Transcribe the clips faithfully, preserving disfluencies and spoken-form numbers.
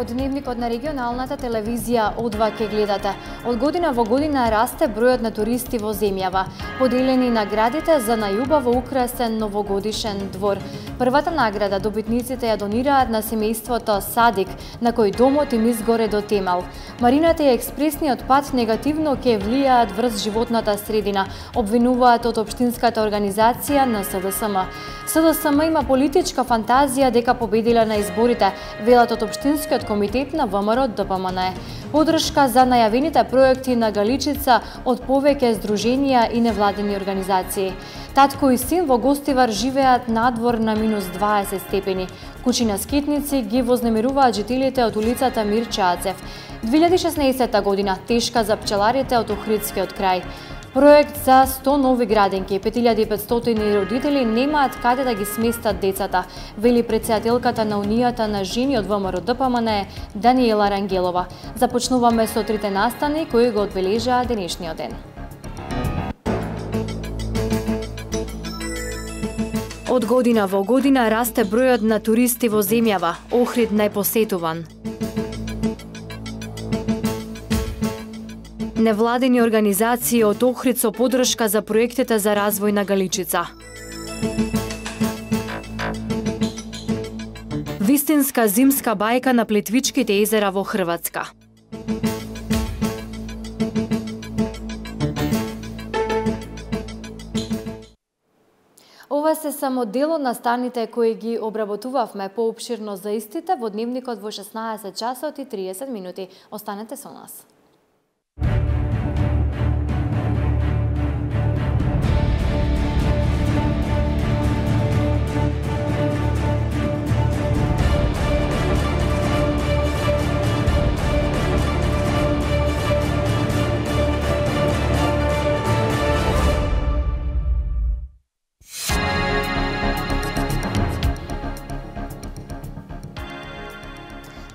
Од дневникот на регионалната телевизија О два ке гледате. Од година во година расте бројот на туристи во земјава. Поделени наградите за најубаво украсен новогодишен двор. Првата награда добитниците ја донираат на семејството Садик, на кој домот им изгоре до темел. Марината и експресниот пат негативно ќе влијаат врз животната средина, обвинуваат од општинската организација на С Д С М. С Д С М има политичка фантазија дека победила на изборите, велат од општинскиот комитет на В М Р Д П М Н. Подршка за најавените проекти на Галичица од повеќе здруженија и невладени организации. Татко и син во Гостивар живеат надвор на минус дваесет степени. Кучи на скитници ги вознемируваат жителите од улицата Мирче Ацев. две илјади и шеснаесетта година тешка за пчеларите од Охридскиот крај. Проект за сто нови градинки, пет илјади и петстотини родители немаат каде да ги сместат децата, вели претседателката на Унијата на жени од В М Р Д П М Н Даниела Рангелова. Започнуваме со трите настани кои го одбележаа денешниот ден. Од година во година расте бројот на туристи во земјава, Охрид најпосетуван. Невладени организации од Охрид со подршка за проектите за развој на Галичица. Вистинска зимска бајка на Плетвичките езера во Хрватска. Ова се само дел од настаните кои ги обработувавме. Поопширно за истите во дневникот во шеснаесет часот и триесет минути. Останете со нас.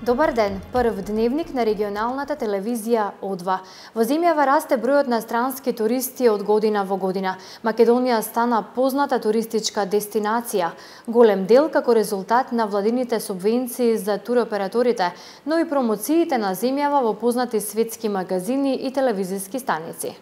Добар ден, прв дневник на регионалната телевизија О два. Во земјава расте бројот на странски туристи од година во година. Македонија стана позната туристичка дестинација, голем дел како резултат на владините субвенции за туроператорите, но и промоциите на земјава во познати светски магазини и телевизиски станици.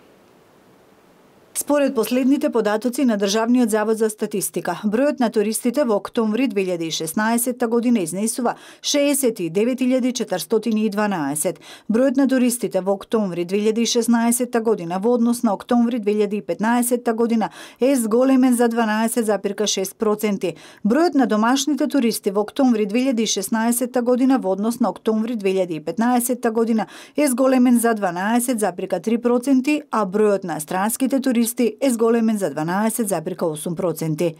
Според последните податоци на Државниот завод за статистика, бројот на туристите во октомври две илјади и шеснаесетта година изнесува шеесет и девет илјади четиристотини и дванаесет. Бројот на туристите во октомври две илјади и шеснаесетта година во однос на октомври две илјади и петнаесетта година е зголемен за дванаесет зарез шест проценти. Бројот на домашните туристи во октомври две илјади и шеснаесетта година во однос на октомври две илјади и петнаесетта година е зголемен за дванаесет зарез три проценти, а бројот на странските туристи е зголемен за дванаесет зарез осум проценти.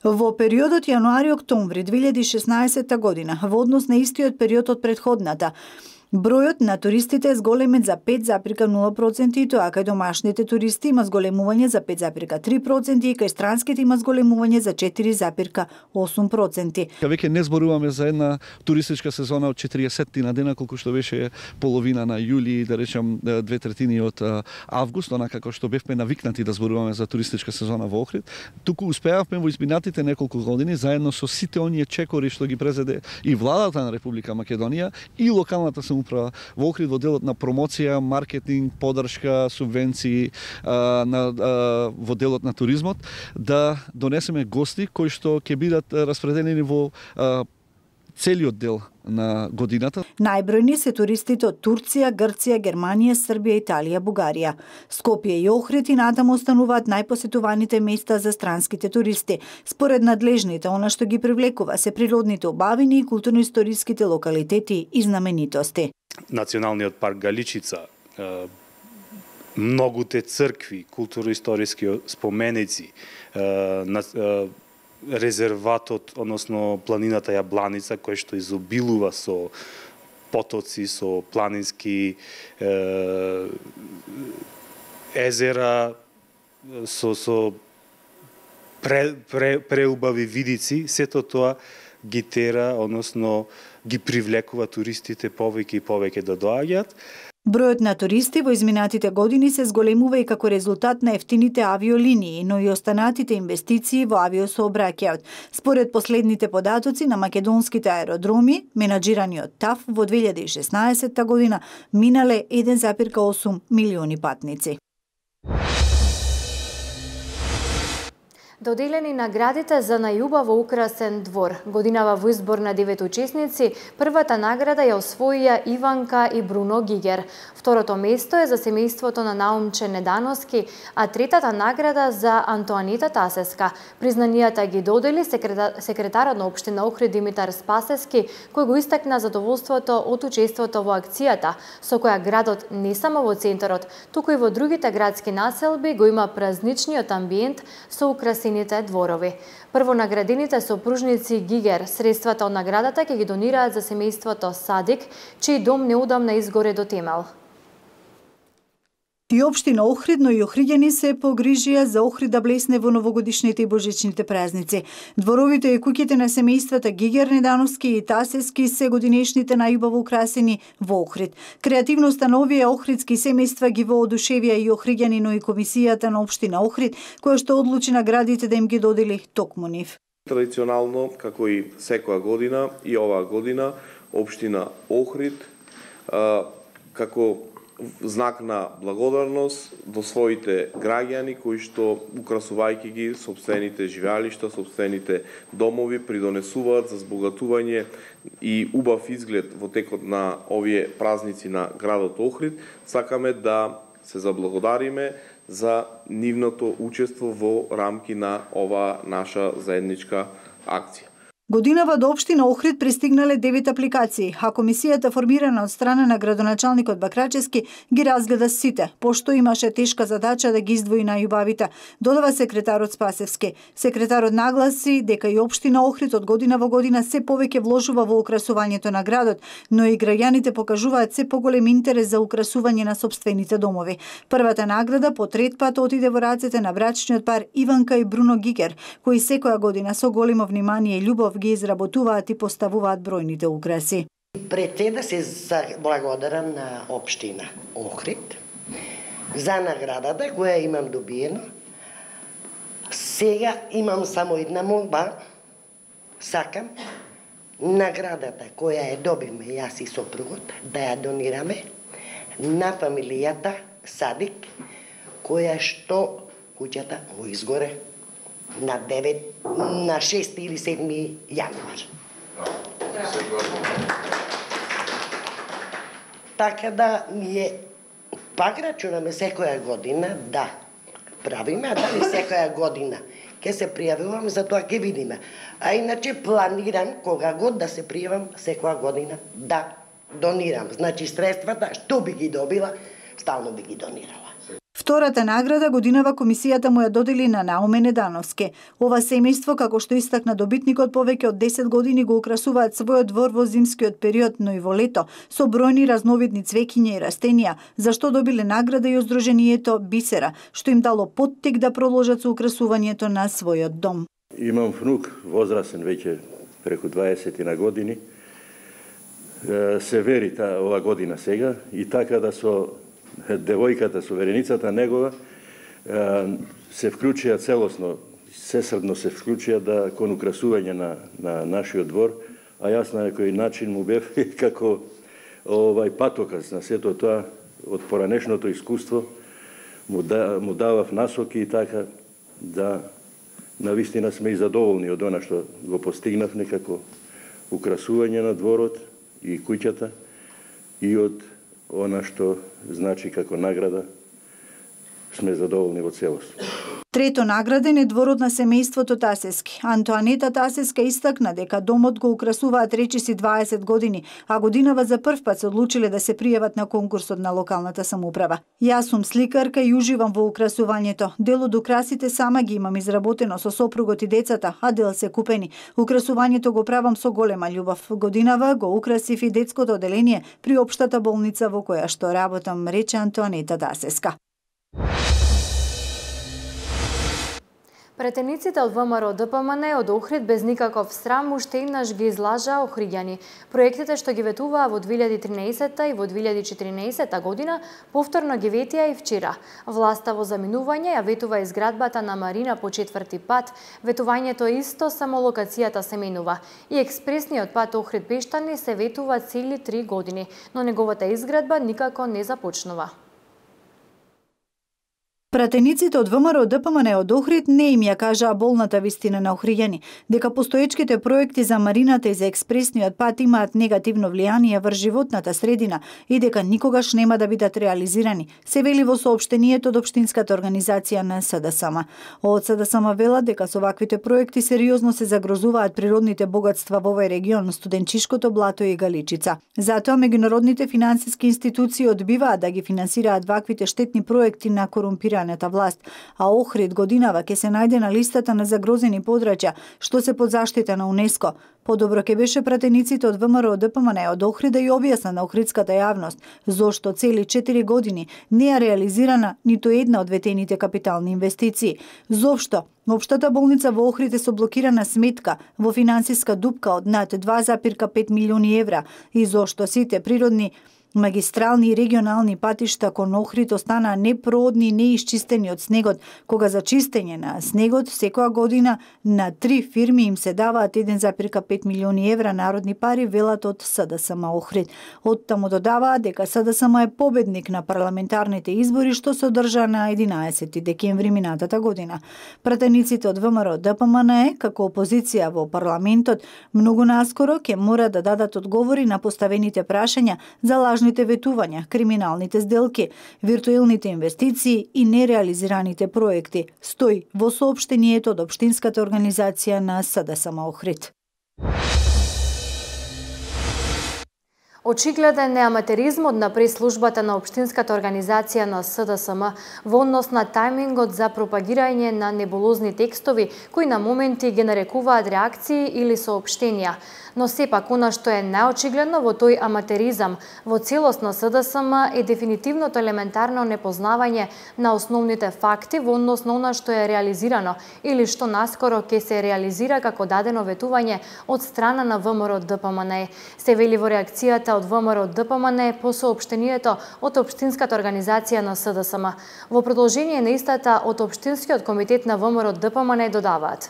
Во периодот јануари-октомври две илјади и шеснаесетта година, во однос на истиот период од претходната, бројот на туристите е зголемен за пет зарез нула проценти и тоа кај домашните туристи има зголемување за пет зарез три проценти и кај странските има зголемување за четири зарез осум проценти. Веќе не зборуваме за една туристичка сезона од четириесет на дена, колку што беше половина на јули, да речем две третини од август, онака како што бевме навикнати да зборуваме за туристичка сезона во Охрид. Туку успеавме во изминатите неколку години заедно со сите оние чекори што ги презеде и владата на Република Македонија и локалната самоуправа во Охрид во делот на промоција, маркетинг, подршка, субвенции а, на, а, во делот на туризмот, да донесеме гости кои што ќе бидат распределени во а, целиот дел на годината. Најбројни се туристите од Турција, Грција, Германија, Србија, Италија, Бугарија. Скопје и Охрид и натаму остануваат најпосетуваните места за странските туристи. Според надлежните, она што ги привлекува се природните убавини и културно-историските локалитети и знаменитости. Националниот парк Галичица, многуте цркви, културно-историски споменици, резерватот, односно планината Јабланица, кој што изобилува со потоци, со планински е, езера, со, со пре, пре, преубави видици, сето тоа ги тера, односно ги привлекува туристите повеќе и повеќе да доаѓаат. Бројот на туристи во изминатите години се зголемува и како резултат на ефтините авиолинии, но и останатите инвестиции во авиосообраќајот. Според последните податоци на македонските аеродроми, менаџирани од ТАФ, во две илјади и шеснаесетта година минале еден зарез осум милиони патници. Доделени наградите за најубаво украсен двор. Годинава во избор на девет учесници, првата награда ја освоија Иванка и Бруно Гигер. Второто место е за семејството на Наумче Недановски, а третата награда за Антоанита Тасеска. Признанијата ги додели секретарот на општина Охрид Димитар Спасески, кој го истакна задоволството од учеството во акцијата, со која градот не само во центарот, туку и во другите градски населби го има празничниот амбиент со украсени дворови. Прво наградените сопружници Гигер средствата од наградата ќе ги донираат за семејството Садик, чиј дом неудамна изгоре до темел. И општина Охрид, но и охриѓани се погрижија за Охрид да блесне во новогодишните и божичните празници. Дворовите и куќите на семејствата Гигер, Недановски и Тасески се годинешните најубаво украсени во Охрид. Креативноста на овие охридски семејства ги воодушевија и охриѓани, но и комисијата на општина Охрид, која што одлучи наградите да им ги додели токму нив. Традиционално, како и секоја година, и оваа година, општина Охрид, како знак на благодарност до своите граѓани кои што украсувајќи ги сопствените живеалишта, сопствените домови, придонесуваат за збогатување и убав изглед во текот на овие празници на градот Охрид. Сакаме да се заблагодариме за нивното учество во рамки на оваа наша заедничка акција. Годинава до општина Охрид пристигнале девет апликации, а комисијата формирана од страна на градоначалникот Бакрачевски ги разгледа сите, пошто имаше тешка задача да ги издвои најубавите, додава секретарот Спасевски. Секретарот нагласи дека и општина Охрид од година во година се повеќе вложува во украсувањето на градот, но и граѓаните покажуваат се поголем интерес за украсување на сопствените домови. Првата награда по трет пат отиде во рацете на брачниот пар Иванка и Бруно Гигер, кои секоја година со големо внимание и љубов ги изработуваат и поставуваат бројните украси. Пред се да се благодарам на општина Охрид за наградата која имам добиена. Сега имам само една молба. Сакам наградата која ја добивме јас и сопругот да ја донираме на фамилијата Садик, која што куќата го изгоре на девет, на шести или седми јануар. Така да ние пак рачунаме секоја година да правиме, а дали секоја година ќе се пријавувам, за тоа ќе видиме. А иначе планирам кога год да се пријавам секоја година да донирам. Значи средствата што би ги добила, стално би ги донирала. Втората награда годинава комисијата му ја додели на Науме Недановски. Ова семејство, како што истакна добитникот, повеќе од десет години го украсуваат својот двор во зимскиот период, но и во лето, со бројни разновидни цвеќиња и растенија, за што добиле награда и Здруженијето Бисера, што им дало поттик да продолжат со украсувањето на својот дом. Имам внук, возрасен веќе преку дваесет на години. Се вери та ова година сега и така да со девојката, сувереницата негова, се вклучија целосно, сесрдно се вклучија да кон украсување на, на нашиот двор, а јас на некој начин му бев како овај патоказ на сето тоа од поранешното искуство, му, да, му давав насоки и така да навистина сме и задоволни од она што го постигнав некако украсување на дворот и куќата и од она што значи како награда сме задоволни во целост. Трето награден е дворот на семејството Тасески. Антоанета Тасеска истакна дека домот го украсуваат речиси дваесет години, а годинава за прв пат се одлучиле да се пријават на конкурсот на локалната самоуправа. Јас сум сликарка и уживам во украсувањето. Дел од украсите сама ги имам изработено со сопругот и децата, а дел се купени. Украсувањето го правам со голема љубов. Годинава го украсив и детското оделение при општата болница во која што работам, рече Антоанета Тасеска. Претениците од ВМРО Д П М Н од Охрид без никаков срам уште еднаш ги излажаа охриѓани. Проектите што ги ветуваа во две илјади и тринаесетта и во две илјади и четиринаесетта година повторно ги ветија и вчера. Власта во заминување ја ветува изградбата на Марина по четврти пат, ветувањето исто, само локацијата се менува. И експресниот пат Охрид Пештани се ветува цели три години, но неговата изградба никако не започнува. Пратениците од ВМРО Д П М Н од Охрид не им ја кажаа болната вистина на охриѓани, дека постоечките проекти за марината и за експресниот пат имаат негативно влијание врз животната средина и дека никогаш нема да бидат реализирани, се вели во соопштението од општинската организација на С Д С М. Од С Д С М велат дека со ваквите проекти сериозно се загрозуваат природните богатства во овој регион, Студенчишкото блато и Галичица. Затоа меѓународните финансиски институции одбиваат да ги финансираат ваквите штетни проекти на корумпирани власт, а Охрид годинава ќе се најде на листата на загрозени подрачја што се под заштита на УНЕСКО. Подобро ќе беше пратениците од ВМРО Д П М Н од Охрид да ја објасна на охридската јавност зошто цели четири години не е реализирана ниту една од ветените капитални инвестиции. Зошто Општата болница во Охрид е со блокирана сметка во финансиска дупка од над два запир пет милиони евра и зошто сите природни магистрални и регионални патишта кон Охрид останаа непроодни и неисчистени од снегот, кога за чистење на снегот секоја година на три фирми им се даваат еден запир пет милиони евра народни пари, велат од С Д С М Охрид. Оттаму додаваат дека С Д С М е победник на парламентарните избори што се одржаа на единаесети декември минатата година. Пратениците од ВМРО Д П М Н како опозиција во парламентот многу наскоро ќе мора да дадат одговори на поставените прашања за лажните ветувања, криминалните сделки, виртуелните инвестиции и нереализираните проекти, стои во соопштението од општинската организација на С Д С М Охрид. Очигледен е аматеризмот на прес-службата на општинската организација на С Д С М во однос на тајмингот за пропагирање на небулозни текстови кои на моменти ги нарекуваат реакции или соопштенија. Но сепак, она што е наочигледно во тој аматеризам во целост на С Д С М е дефинитивното елементарно непознавање на основните факти во однос на она што е реализирано или што наскоро ќе се реализира како дадено ветување од страна на ВМРО Д П М Н. Се вели во реакцијата од ВМРО Д П М Н по соопштението од општинската организација на С Д С М. Во продолжение на истата од општинскиот комитет на ВМРО Д П М Н додаваат: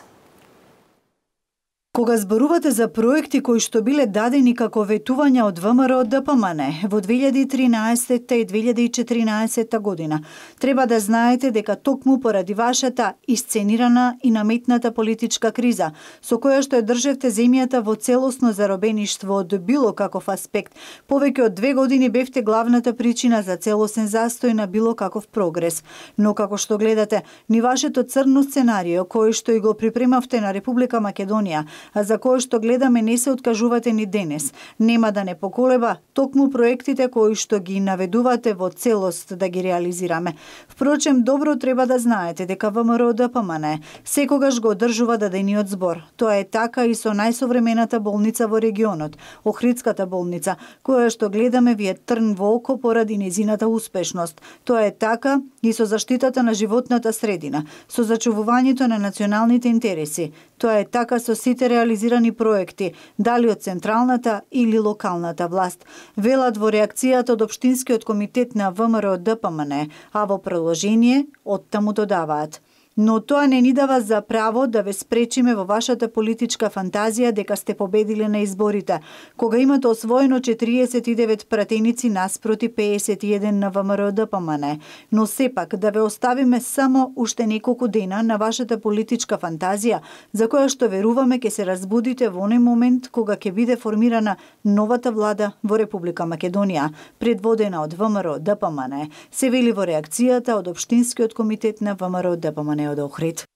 Кога зборувате за проекти кои што биле дадени како ветувања од ВМРО Д П М Н во две илјади и тринаесетта и две илјади и четиринаесетта година, треба да знаете дека токму поради вашата исценирана и наметната политичка криза, со која што ја држевте земјата во целосно заробеништво од било каков аспект, повеќе од две години бевте главната причина за целосен застој на било каков прогрес. Но како што гледате, ни вашето црно сценарио, кој што и го припремавте на Република Македонија, а за кој што гледаме не се откажувате ни денес, нема да не поколеба токму проектите кои што ги наведувате во целост да ги реализираме. Впрочем, добро треба да знаете дека ВМРО Д П М Н секогаш го одржува дадениот збор. Тоа е така и со најсовремената болница во регионот, Охридската болница, која што гледаме ви е трн во око поради незината успешност. Тоа е така и со заштитата на животната средина, со зачувувањето на националните интереси. Тоа е така со сите реализирани проекти, дали од централната или локалната власт, велат во реакцијата од општинскиот комитет на ВМРО Д П М Н, а во продолжение оттаму додаваат: но тоа не ни дава за право да ве спречиме во вашата политичка фантазија дека сте победиле на изборите, кога имате освоено четириесет и девет пратеници наспроти пеесет и еден на ВМРО Д П М Н, но сепак да ве оставиме само уште неколку дена на вашата политичка фантазија, за која што веруваме ќе се разбудите во оној момент кога ќе биде формирана новата влада во Република Македонија, предводена од ВМРО Д П М Н, се вели во реакцијата од општинскиот комитет на ВМРО Д П М Н од Охрид.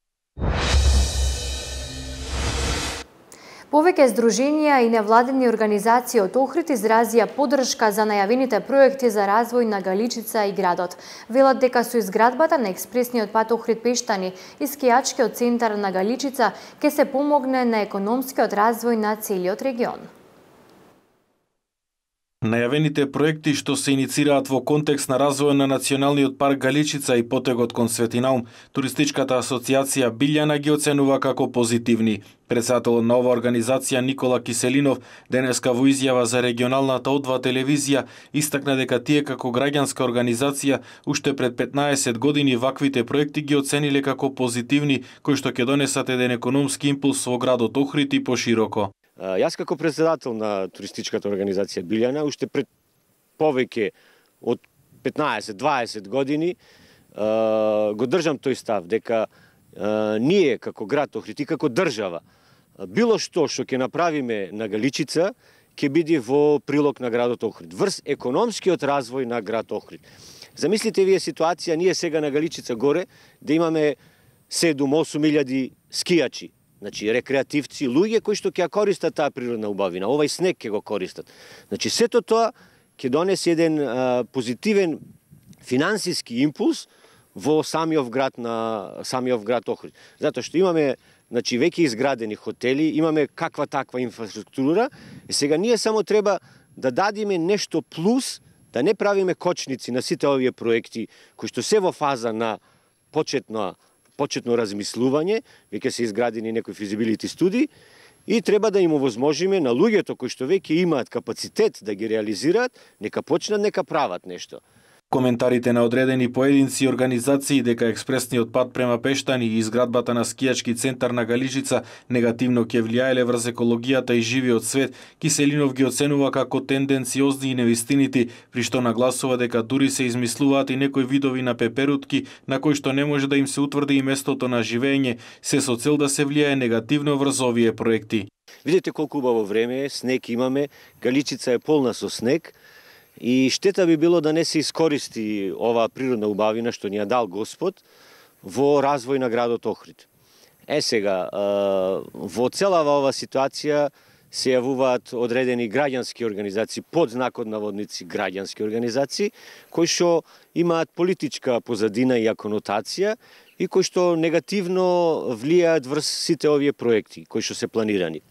Повеќе здруженија и невладени организации од Охрид изразија поддршка за најавените проекти за развој на Галичица и градот. Велат дека со изградбата на експресниот пат Охрид Пештани и скијачкиот центар на Галичица ќе се помогне на економскиот развој на целиот регион. Најавените проекти што се иницираат во контекст на развој на Националниот парк Галичица и потегот кон Светинаум, Туристичката асоциација Билјана ги оценува како позитивни. Председателот на оваа организација Никола Киселинов денеска во изјава за регионалната О два телевизија истакна дека тие како граѓанска организација уште пред петнаесет години ваквите проекти ги оцениле како позитивни, кои што ќе донесат еден економски импулс во градот Охрид и пошироко. Јас како председател на туристичката организација Билјана уште пред повеќе од петнаесет-дваесет години го држам тој став дека ние како град Охрид и како држава било што што ќе направиме на Галичица ќе биде во прилог на градот Охрид, врз економскиот развој на град Охрид. Замислите вие ситуација, ние сега на Галичица горе да имаме седум-осум илјади скијачи, значи рекреативци, луѓе кои што ќе ја користат таа природна убавина, овај снег ќе го користат. Значи сето тоа ќе донесе еден а, позитивен финансиски импулс во самиот град на самиот град Охрид. Затоа што имаме значи веќе изградени хотели, имаме каква таква инфраструктура, и сега ние само треба да дадиме нешто плюс, да не правиме кочници на сите овие проекти кои што се во фаза на почетна почетно размислување, веќе се изградени некои физибилити студии и треба да им овозможиме на луѓето кои што веќе имаат капацитет да ги реализираат, нека почнат, нека прават нешто. Коментарите на одредени поединци и организации дека експресниот пат према Пештани и изградбата на скијачки центар на Галичица негативно ќе влијаеле врз екологијата и живиот свет, Киселинов ги оценува како тенденциозни и невистинити, при што нагласува дека дури се измислуваат и некои видови на пеперутки на кои што не може да им се утврди и местото на живење, се со цел да се влијае негативно врз овие проекти. Видете колку убаво време е, снег имаме, Галичица е полна со снег, и штета би било да не се искористи оваа природна убавина што ни ја дал Господ во развој на градот Охрид. Е сега, во целава оваа ситуација се јавуваат одредени граѓански организации, под знакот наводници граѓански организации, кои што имаат политичка позадина и конотација и кои што негативно влијаат врз сите овие проекти кои што се планирани.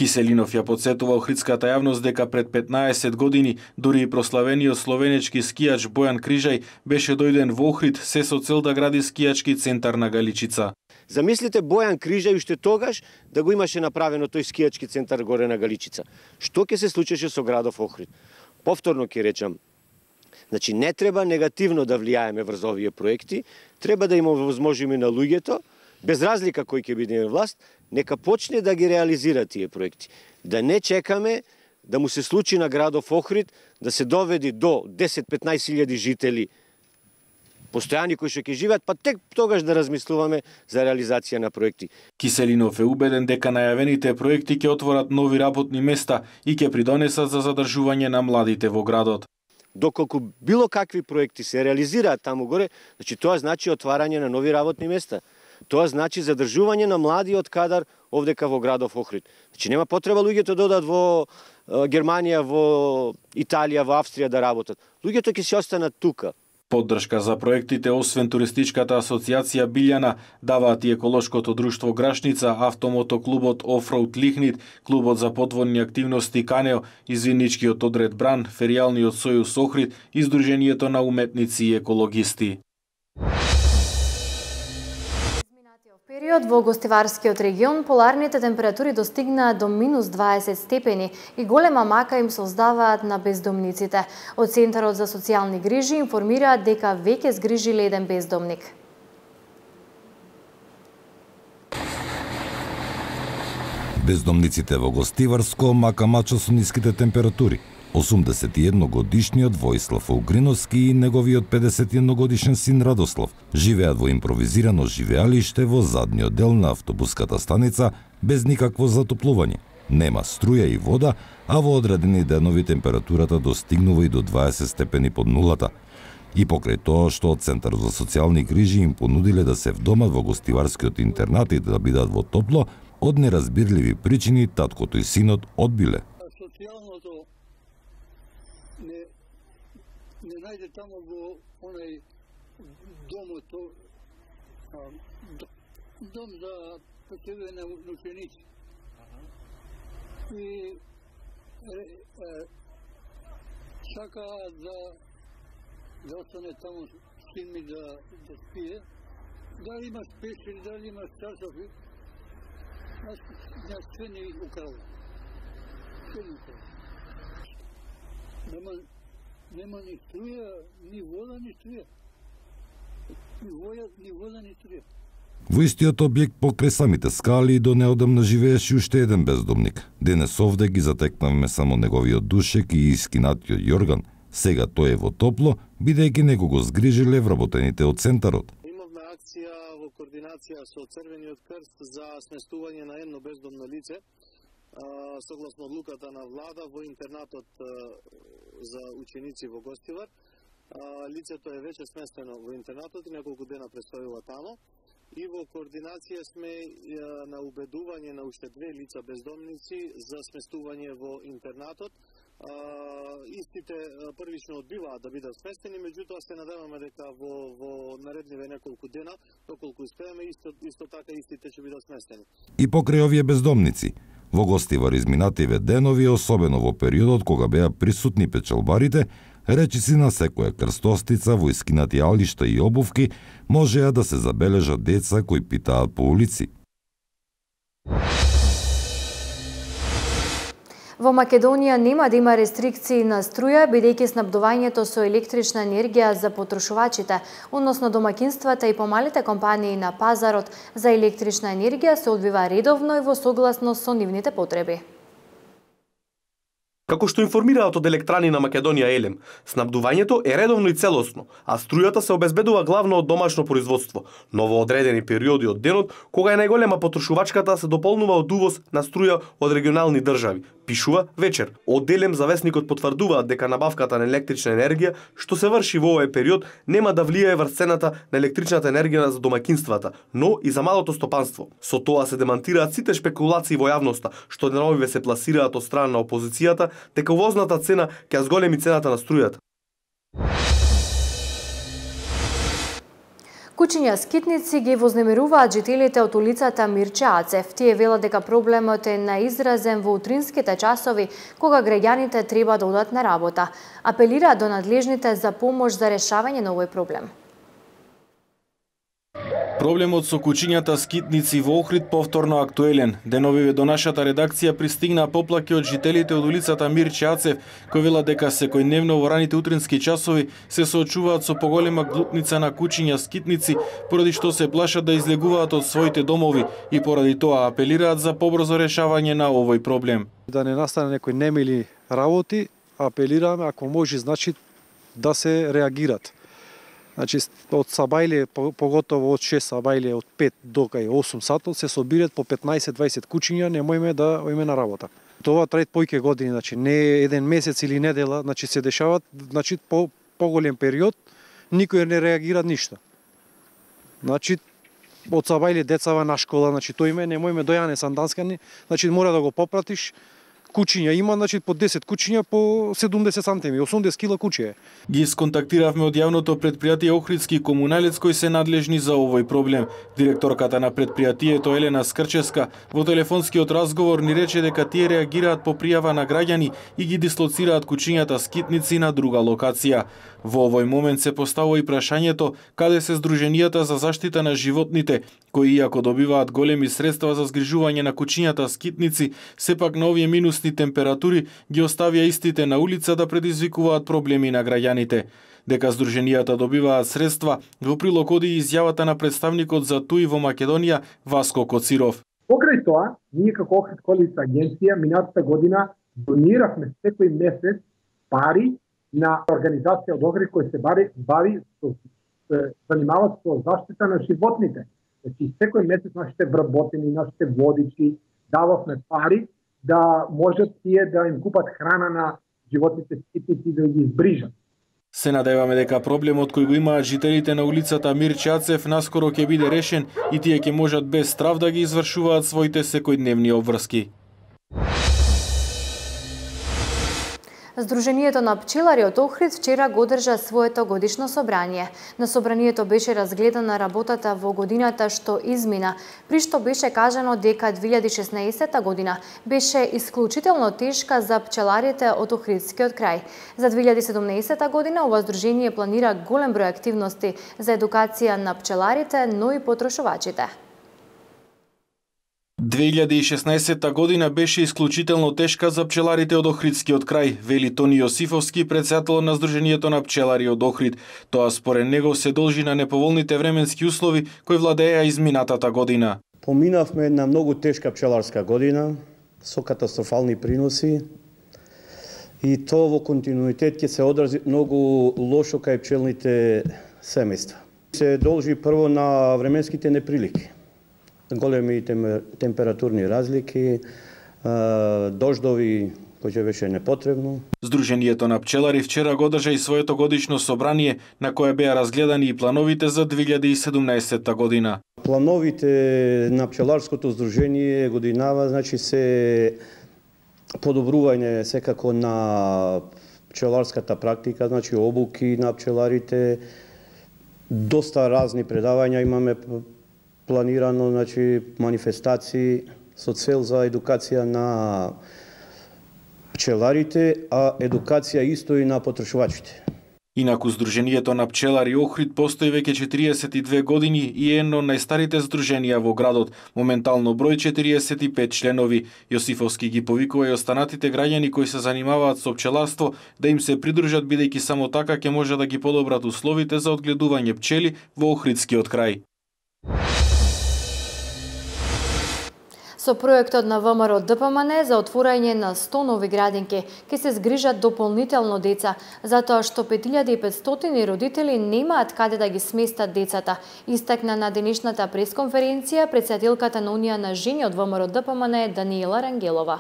Киселинов ја подсетува охридската јавност дека пред петнаесет години дури и прославениот словенечки скијач Бојан Крижај беше дојден во Охрид се со цел да гради скијачки центар на Галичица. Замислите Бојан Крижај уште тогаш да го имаше направено тој скијачки центар горе на Галичица. Што ќе се случеше со градов Охрид? Повторно ќе речам, значи не треба негативно да влијаеме врз овие проекти, треба да им овозможиме на луѓето, без разлика кој ќе биде власт, нека почне да ги реализира тие проекти. Да не чекаме да му се случи на градов Охрид да се доведи до десет-петнаесет илјади жители постојани кои што ќе живеат, па тек тогаш да размислуваме за реализација на проекти. Киселинов е убеден дека најавените проекти ќе отворат нови работни места и ќе придонесат за задржување на младите во градот. Доколку било какви проекти се реализираат таму горе, значи тоа значи отварање на нови работни места. Тоа значи задржување на младиот кадар овдека во градов Охрид. Значи нема потреба луѓето да одат во Германија, во Италија, во Австрија да работат. Луѓето ќе се останат тука. Поддршка за проектите, освен Туристичката асоциација Билјана, даваат и еколошкото друштво Грашница, автомотоклубот Офроуд Лихнит, клубот за подводни активности Канео, извинничкиот одред Бран, феријалниот сојуз Охрид и Сдруженијето на уметници и екологисти. Период во гостиварскиот регион поларните температури достигнаа до минус дваесет степени и голема мака им создаваат на бездомниците. Од Центарот за социјални грижи информираат дека веќе згрижиле еден бездомник. Бездомниците во Гостиварско мака мачо со ниските температури. осумдесет и едно годишниот Воислав Огриновски и неговиот педесет и едно годишен син Радослав живеат во импровизирано живеалиште во задниот дел на автобуската станица без никакво затоплување. Нема струја и вода, а во одредени денови температурата достигнува и до дваесет степени под нулата. И покрај тоа што од Центарот за социјални грижи им понудиле да се вдомат во гостиварскиот интернат и да бидат во топло, од неразбирливи причини таткото и синот одбиле. Не, не најде тамо во онај домот, дом за почивање на ученици. И е, е, сакаат да да остане таму син ми да да спие. Дали имаш пешери, дали имаш часови, нас на све ни украл. Све ни украл. Нема, нема ни струја, ни вода, ни струја. Ни вода, ни вода, ни струја. Во истиот објект покрај самите скали до неодамна живееше уште еден бездомник. Денес овде ги затекнавме само неговиот душек и искинатиот јорган. Сега тој е во топло, бидејќи него го згрижиле вработените од центарот. Имавме акција во координација со Црвениот крст за сместување на едно бездомно лице, согласно одлуката на влада во интернатот за ученици во Гостивар. Лицето е веќе сместено во интернатот и неколку дена престојува тамо. И во координација сме на убедување на уште две лица бездомници за сместување во интернатот. Истите првично одбиваат да бидат сместени, меѓутоа се надеваме дека во, во наредниве неколку дена, доколку успееме, исто, исто така истите ќе бидат сместени. И покрај овие бездомници, во Гостивар изминативе денови, особено во периодот кога беа присутни печалбарите, речиси на секоја крстостица во искинати алишта и обувки можеа да се забележат деца кои питаат по улици. Во Македонија нема да има рестрикции на струја, бидејќи снабдувањето со електрична енергија за потрошувачите, односно домакинствата и помалите компании на пазарот за електрична енергија се одвива редовно и во согласност со нивните потреби. Како што информираат од Електрани на Македонија Елем, снабдувањето е редовно и целосно, а струјата се обезбедува главно од домашно производство, но во одредени периоди од денот, кога е најголема потрошувачката, се дополнува од увоз на струја од регионални држави, пишува Вечер. Од Елем завесникот потврдуваат дека набавката на електрична енергија, што се врши во овој период, нема да влијае врз цената на електричната енергија за домакинствата, но и за малото стопанство. Со тоа се демантираат сите шпекулации во јавноста, што деновиве се пласираат од страна на опозицијата, дека увозната цена ќе зголеми цената на струјата. Кучиња скитници ги вознемируваат жителите од улицата Мирче Ацев. Тие велат дека проблемот е наизразен во утринските часови, кога граѓаните треба да одат на работа. Апелираат до надлежните за помош за решавање на овој проблем. Проблемот со кучињата скитници во Охрид повторно актуелен. Деновиве до нашата редакција пристигнаа поплаки од жителите од улицата Мирче Ацев, кои велат дека секојдневно во раните утрински часови се соочуваат со поголема глутница на кучиња скитници, поради што се плашат да излегуваат од своите домови и поради тоа апелираат за побрзо решавање на овој проблем. Да не настане некои немили работи, апелираме ако може значи да се реагират. Значи, од сабајле, поготово од шест сабајле, од пет до кај осум сатот, се собират по петнаесет до дваесет кучиња, немојме да оиме на работа. Това трае појќе години, значи не еден месец или недела, значи се дешават, значи по поголем период, никој не реагира ништо. Значи, од сабајле децава на школа, значи тој име, немојме дојане санданскани, значи мора да го попратиш. Кучиња има, значи по десет кучиња по седумдесет сантими, осумдесет кила кучиња. Ги сконтактиравме од јавното предпријатие Охридски комуналец кои се надлежни за овој проблем. Директорката на предпријатието Елена Скрчевска во телефонскиот разговор ни рече дека тие реагираат по пријава на граѓани и ги дислоцираат кучињата скитници на друга локација. Во овој момент се поставува и прашањето каде се здруженијата за заштита на животните, кои иако добиваат големи средства за згрижување на кучињата скитници, сепак на овие минусни температури ги оставија истите на улица да предизвикуваат проблеми на граѓаните. Дека здруженијата добиваат средства, во прилог оди изјавата на представникот за ТУИ во Македонија Васко Коциров. Покрај тоа, ние како Охрид Колица агенција минатата година дониравме секој месец пари на организација од Охрид која се бави, бави со, се занимава со заштита на животните. Значи секој месец нашите вработени, нашите водичи дававме пари да можат тие да им купат храна на животните скитници да ги избрижат. Се надеваме дека проблемот кој го имаат жителите на улицата Мирче Ацев наскоро ќе биде решен и тие ќе можат без страв да ги извршуваат своите секојдневни обврски. Здруженијето на пчелари од Охрид вчера го одржа своето годишно собрание. На собранието беше разгледана работата во годината што измина, при што беше кажано дека две илјади и шеснаесетта година беше исклучително тешка за пчеларите од Охридскиот крај. За две илјади и седумнаесетта година ова здружение планира голем број активности за едукација на пчеларите, но и потрошувачите. две илјади и шеснаесетта година беше исклучително тешка за пчеларите од Охридскиот крај, вели Тони Јосифовски, претседател на Здруженијето на пчелари од Охрид. Тоа според него се должи на неповолните временски услови кои владееа изминатата година. Поминавме една многу тешка пчеларска година со катастрофални приноси и тоа во континуитет ќе се одрази многу лошо кај пчелните семејства. Се должи прво на временските неприлики. Големи температурни разлики, дождови кои ќе беше непотребно. Здруженијето на пчелари вчера го одржа и своето годишно собрание на кое беа разгледани и плановите за две илјади и седумнаесетта година. Плановите на пчеларското здружение годинава, значи се подобрување секако на пчеларската практика, значи обуки на пчеларите, доста разни предавања имаме планирано, значи манифестации со цел за едукација на пчеларите, а едукација исто и на потрошувачите. Инаку Здруженијето на пчелари Охрид постои веќе четириесет и две години и е едно од најстарите здруженија во градот, моментално број четириесет и пет членови. Јосифовски ги повикува и останатите граѓани кои се занимаваат со пчеларство да им се придружат, бидејќи само така ќе може да ги подобрат условите за одгледување пчели во Охридскиот крај. Со проектот на ВМРО Д П М Н за отворање на сто нови градинки ќе се згрижат дополнително деца, затоа што пет илјади и петстотини родители немаат каде да ги сместат децата, истакна на денешната пресконференција претседателката на Унија на жени од ВМРО Д П М Н Даниела Рангелова.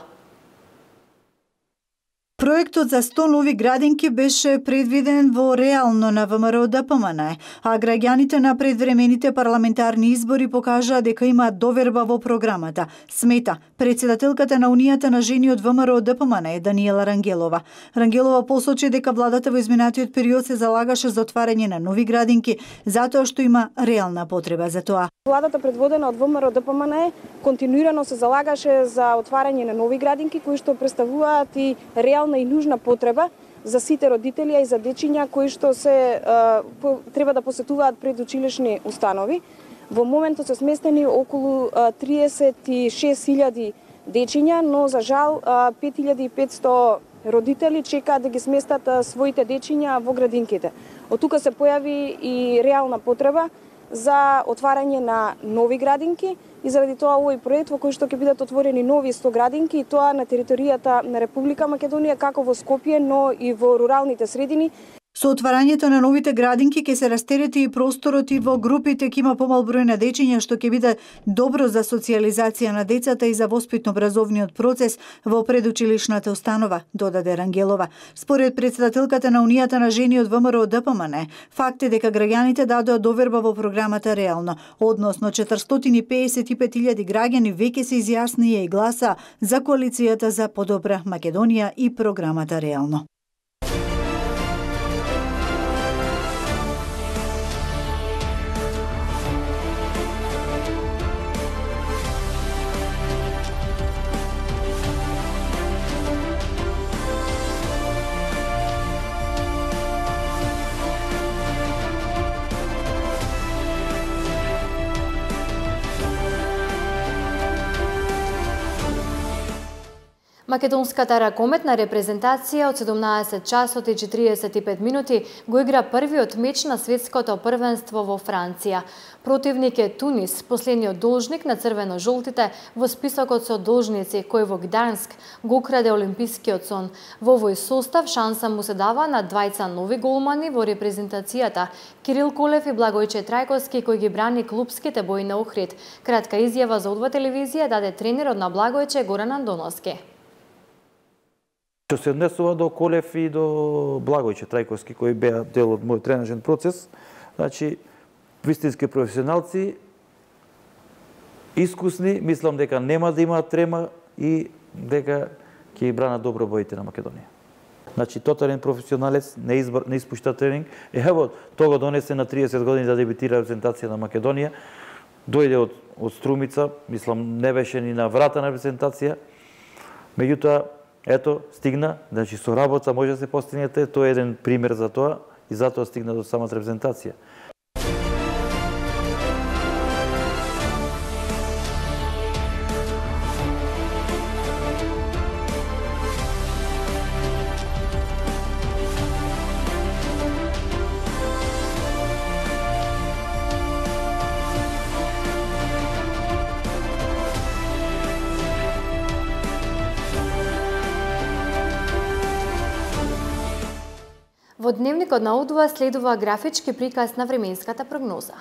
Проектот за сто нови градинки беше предвиден во реално на ВМРО Д П М Н, а граѓаните на предвремените парламентарни избори покажаа дека имаат доверба во програмата, смета претседателката на Унијата на жени од ВМРО Д П М Н Даниела Рангелова. Рангелова посочи дека владата во изминатиот период се залагаше за отварање на нови градинки, затоа што има реална потреба за тоа. Владата предводена од ВМРО Д П М Н континуирано се залагаше за отварање на нови градинки кои што представуваат и реална и нужна потреба за сите родители и за дечиња кои што се а, по, треба да посетуваат предучилишни установи. Во моментот се сместени околу а, триесет и шест илјади дечиња, но за жал а, пет илјади и петсто родители чекаат да ги сместат а, своите дечиња во градинките. Од тука се појави и реална потреба за отварање на нови градинки и заради тоа овој проект во кој што ќе бидат отворени нови сто градинки и тоа на територијата на Република Македонија, како во Скопје, но и во руралните средини. Со отварањето на новите градинки ќе се растерети и просторот и во групите ќе има помал број на дечиња, што ќе биде добро за социјализација на децата и за воспитно-образовниот процес во предучилишната установа, додаде Рангелова. Според претседателката на Унијата на жени од ВМРО Д П М Н, факт е дека граѓаните дадоа доверба во програмата реално, односно четиристотини и педесет и пет илјади граѓани веќе се изјаснија и гласа за коалицијата за подобра Македонија и програмата реално. Македонската ракометна репрезентација од седумнаесет часот и четириесет и пет минути го игра првиот меч на светското првенство во Франција. Противник е Тунис, последниот должник на црвено-жолтите во списокот со должници кој во Гданск го украде олимпискиот сон. Во овој состав шанса му се дава на двајца нови голмани во репрезентацијата Кирил Колев и Благојче Трајковски кој ги брани клупските бои на Охрид. Кратка изјава за Одва телевизија даде тренерот на Благојче Горан Андоновски. Што се однесува до Колев и до Благојче Трајковски, кои беа дел од мојот тренажен процес, значи, вистински професионалци, искусни, мислам дека нема да имаат трема и дека ќе ги бранат добро боите на Македонија. Значи, тотален професионалец, не, избор, не испушта тренинг. Ево, тоа го донесе на триесет години да дебитира репрезентација на Македонија. Дојде од, од Струмица, мислам, не беше ни на врата на репрезентација. Меѓутоа, ето, стигна, значи со работа може да се постигнете, тоа е еден пример за тоа и затоа стигна до самата репрезентација. Во дневникот на О два следува графички приказ на временската прогноза.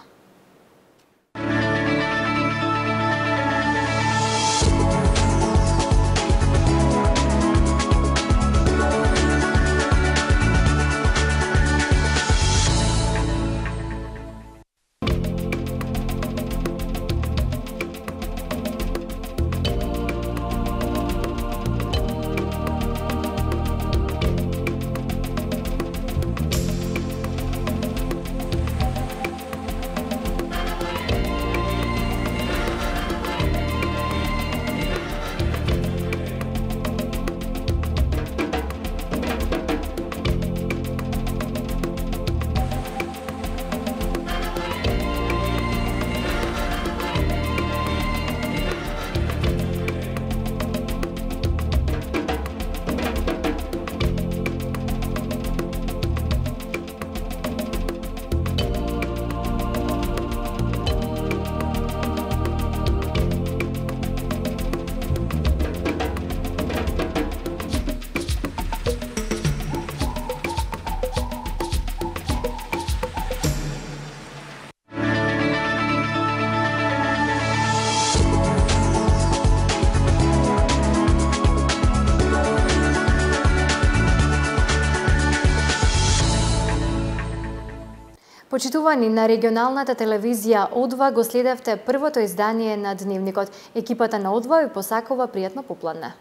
Почитувани, на регионалната телевизија О два го следевте првото издание на Дневникот. Екипата на О два ви посакува пријатно попладне.